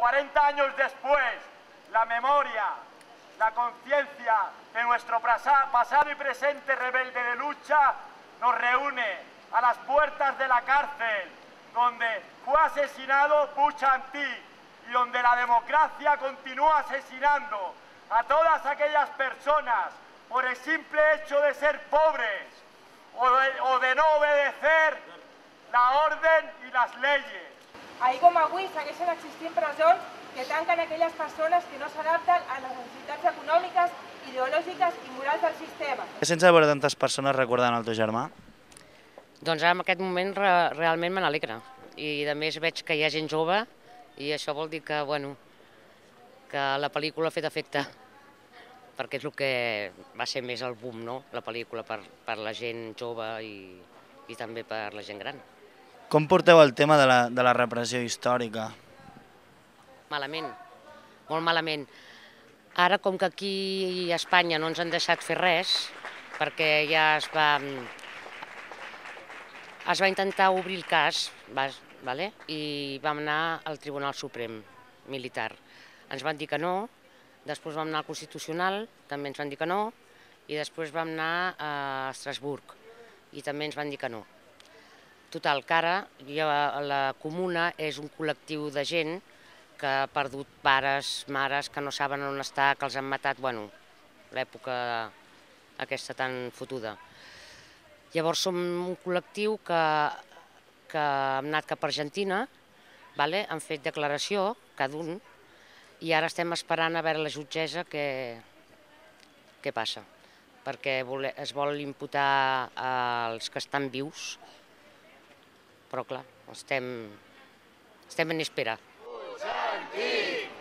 40 años después, la memoria, la conciencia de nuestro pasado y presente rebelde de lucha nos reúne a las puertas de la cárcel, donde fue asesinado Puig-Antí y donde la democracia continúa asesinando a todas aquellas personas por el simple hecho de ser pobres o de no obedecer la orden i les leyes. Ahir com avui segueixen existint presons que tanquen aquelles persones que no s'adapten a les necessitats econòmiques, ideològiques i morals del sistema. Sense veure tantes persones recordant el teu germà? Doncs ara en aquest moment realment me n'alegra. I a més veig que hi ha gent jove i això vol dir que, bueno, que la pel·lícula ha fet efecte, perquè és el que va ser més el boom, no? La pel·lícula per la gent jove i també per la gent gran. Com porteu el tema de la repressió històrica? Malament, molt malament. Ara, com que aquí a Espanya no ens han deixat fer res, perquè ja es va intentar obrir el cas, i vam anar al Tribunal Suprem Militar. Ens van dir que no, després vam anar al Constitucional, també ens van dir que no, i després vam anar a Estrasburg, i també ens van dir que no. Total, que ara la comuna és un col·lectiu de gent que ha perdut pares, mares, que no saben on està, que els han matat, bueno, l'època aquesta tan fotuda. Llavors som un col·lectiu que hem anat cap a Argentina, han fet declaració, cada un, i ara estem esperant a veure la jutgessa què passa, perquè es vol imputar als que estan vius, però clar, estem en espera. Puig-Antí!